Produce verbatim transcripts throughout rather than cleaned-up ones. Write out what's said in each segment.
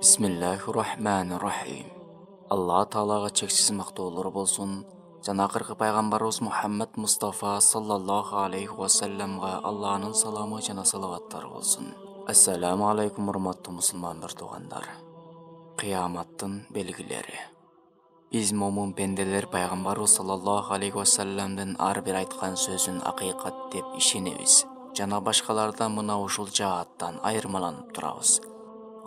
Бисмиллахир-рахманир-рахим. Алла Таалага чексиз мактоолор болсун. Жана акыркы пайгамбарыбыз Мухаммад Мустафа саллаллаху алейхи ва салламга Алланын саламы жана салаваттары болсун. Ассаламу алейкум, урматтуу мусулмандар туугандар. Кыяматтын белгилери. Биз момун пенделер пайгамбарыбыз саллаллаху алейхи ва салламдын ар бир айткан сөзүн акыйкат деп ишенебиз. Жана башкалардан мына ушул жааттан айырмаланып турабыз.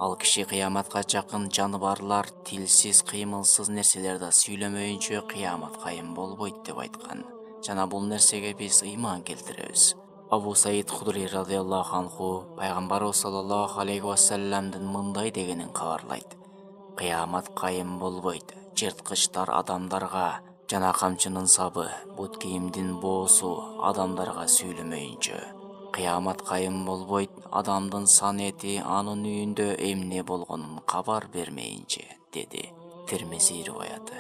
Ал киши кыяматка жакын жаныбарлар тилсиз, кыймылсыз нерселерди сүйлөмөйүнчө кыямат кайым болбойт деп айткан. Жана бул нерсеге биз ыйман келтиребиз. Абу Саид Худри радыйаллаху анху пайгамбарыбыз саллаллаху алейхи ва салламдын мындай дегенин кабарлайт. Кыямат кайым болбойт жырткычтар адамдарга жана камчынын сабы, бут кийимдин боосу адамдарга сүйлөмөйүнчө. Кыямат кайым болбойт адамдын сан эти анын үйүндө эмне болгонун кабар бермейинче, деди. Термизи риваяты.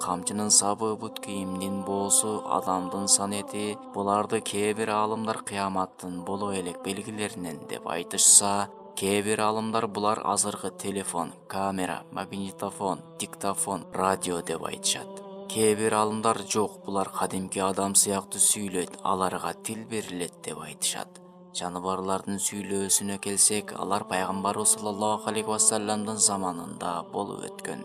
Камчынын сабы, бут кийимдин боосу адамдын сан эти, буларды кээ бир аалымдар кыяматтын боло элек белгилеринен деп айтышса, кээ бир аалымдар булар азыркы телефон, камера, магнитофон, диктофон, радио деп айтышат. Кээ бир аалымдар жок, булар кадимки адам сыяктуу сүйлөйт, аларга тил берилет деп айтышат. Жаныбарлардын сүйлөөсүнө келсек, алар пайгамбарыбыз саллаллаху алейхи ва салламдын заманында болуп өткөн.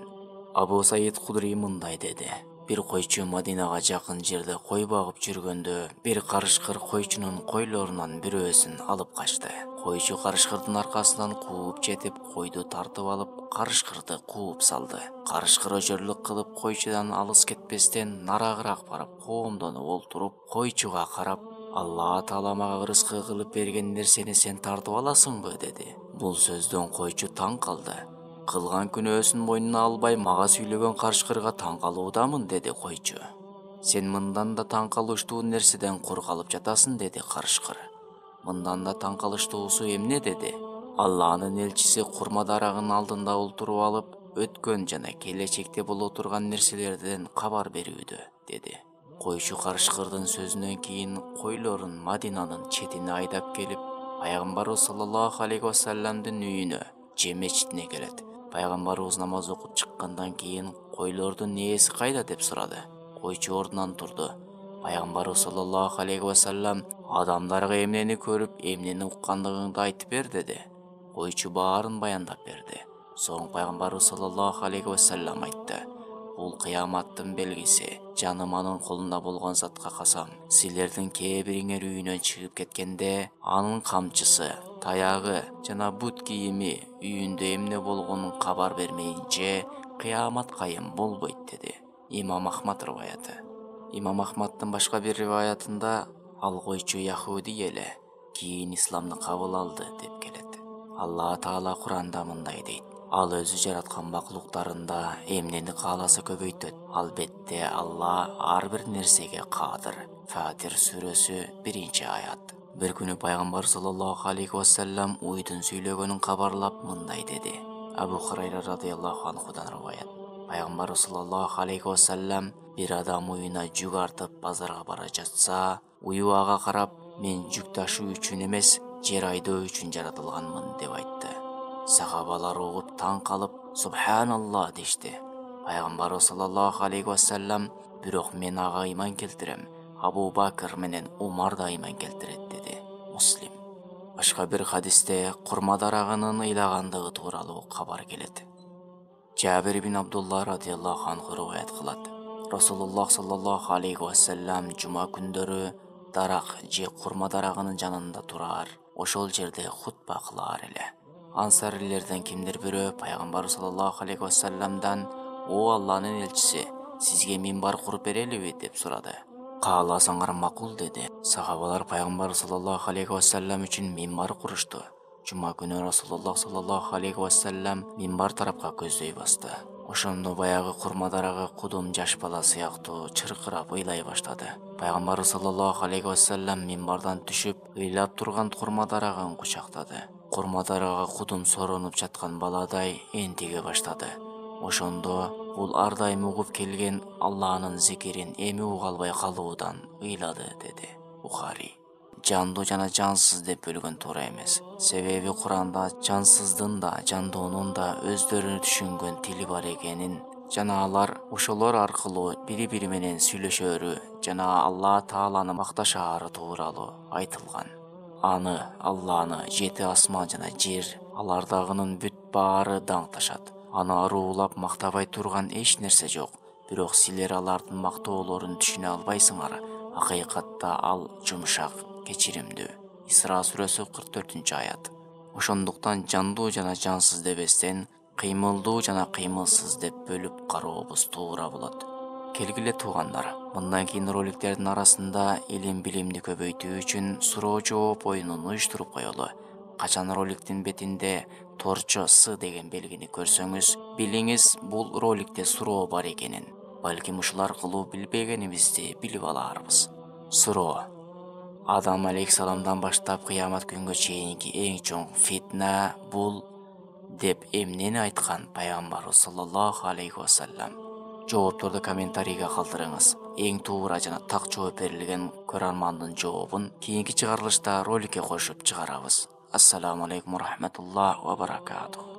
Абу Саид Худри мындай деди. Бир койчу Мадинага жакын жерде кой багып жүргөндө, бир карышкыр койчунун койлорунан бирөөсүн алып качты. Койчу карышкырдын аркасынан кууп жетип, койду тартып алып, карышкырды кууп салды. Карышкыр өчөрлүк кылып койчудан алыс кетпестен нарагыраак барып, коомдонуп олтуруп, койчуга карап, Алла Таала мага рызкы кылып берген нерсени сен тартып аласыңбы, деди. Бул сөздөн койчу таң калды. Кылган күнөөсүн мойнуна албай, мага сүйлөгөн карышкырга таң калуудамын, деди койчу. Сен мындан да таң калыштуу нерседен кур калып жатасың, деди карышкыр. Мындан да таң калыштуусу эмне, деди. Алланын элчиси курма дарагынын алдында олтуруп алып, өткөн жана келечекте боло турган нерселерден кабар берүүдө, деди. Койчу карышкырдын сөзүнөн кийин койлорун Мадинанын четине айдап келип, пайгамбарыбыз саллаллаху алейхи ва салламдын үйүнө, же мечитине келет. Пайгамбарыбыз намаз окуп чыккандан кийин койлордун ээси кайда деп сурады. Койчу ордунан турду. Пайгамбарыбыз саллаллаху алейхи ва саллам адамдарга эмнени көрүп, эмнени уккандыгыңды айтып бер, деди. Койчу баарын баяндап берди. Соң пайгамбарыбыз саллаллаху алейхи ва саллам айтты. Бул кыяматтын белгиси. Жаным анын колунда болгон затка касам, силердин кээ бириңер үйүнөн чыгып кеткенде, анын камчысы, таягы жана бут кийими үйүндө эмне болгонун кабар бермейинче кыямат кайым болбойт, деди. Имам Ахмад риваяты. Имам Ахмаддын башка бир риваятында ал койчу яхуди эле, кийин исламды кабыл алды деп келет. Алла Таала Куранда мындай дейт. Ал өзү жараткан макулуктарында эмнени кааласа көбөйтөт. Албетте Алла ар бир нерсеге кадыр. Фатир сүрөсү биринчи аят. Бир күнү пайгамбар саллаллаху алейхи ва саллам уйдун сүйлөгөнүн кабарлап мындай деди. Абу Хурайра радыйаллаху анхудан риваят. Пайгамбар саллаллаху алейхи ва саллам бир адам уюна жүк артып базарга бара жатса, ую ага карап, мен жүк ташуу үчүн эмес, жер айдоо үчүн жаратылганмын деп айтты. Сахабалар угуп таң калып, субханалла дешти. Пайгамбар саллаллаху алейхи ва саллам, бирок мен ага ыйман келтирем, Абу Бакр менен Умар да ыйман келтирет, деди. Муслим. Башка бир хадисте курма дарагынын ыйлагандыгы тууралуу кабар келет. Жабир ибн Абдулла радыйаллаху анху риваят кылат. Расулуллах саллаллаху алейхи ва саллам жума күндөрү дарак же курма дарагынын жанында турар, ошол жерде хутба кылар эле. Ансарилерден кимдир бирөө пайгамбар саллаллаху алейхи ва салламдан: "О Алланын элчиси, сизге минбар куруп берелиби?" деп сурады. "Кааласаңар макул", деди. Сахабалар пайгамбар саллаллаху алейхи ва саллам үчүн минбар курушту. Жума күнү Расулуллах саллаллаху алейхи ва саллам минбар тарапка көздөй басты. Ошондо баягы курма дарагы кудум жаш бала сыяктуу чыркырап ыйлай баштады. Пайгамбар саллаллаху алейхи ва саллам минбардан түшүп, ыйлап турган курма дарагын кучактады. Курма дарага кудум соронуп жаткан баладай энтиге баштады. Ошондо бул ар дайым угуп келген Алланын зикирин эми уга албай калуудан ыйлады, деди. Бухари. жандуу жана жансыз деп бөлгөн туура эмес. Себеби Куранда жансыздын да жандуунун да өздөрү түшүнгөн тили бар экенин жана алар ошолор аркылуу бири-бири менен сүйлөшөрү жана Алла Тааланы макташаары тууралуу айтылган. Аны, Алланы жети асман жана жер, алардагынын бүт баары даңкташат. Аны аруулап мактабай турган эч нерсе жок. Бирок силер алардын мактоолорун түшүнө албайсыңар. Акыйкатта ал жумшак, кечиримдүү. Исра сүрөсү кырк төртүнчү аят. Ошондуктан жандуу жана жансыз дебестен кыймылдуу жана кыймылсыз деп бөлүп карообуз туура болот. Келгиле туугандар, мындан кийин роликтердин арасында илим билимди көбөйтүү үчүн суроо жооп оюнун уюштуруп коелу. Качан роликтин бетинде торчо С деген белгини көрсөңүз, билиңиз бул роликте суроо бар экенин. Балким ушул аркылуу билбегенибизди билип аларбыз. Суроо: Адам алейхисаламдан баштап кыямат күнгө чейинки эң чоң фитна бул деп эмнени айткан пайгамбарыбыз саллаллаху алейхи вассалам? Жоопторду комментарийге калтырыңыз. Эң туура жана так жооп берилген көрөрмандын жообун кийинки чыгарылышта роликке кошуп чыгарабыз. Ассаламу алейкум ва рахматуллахи ва баракатух.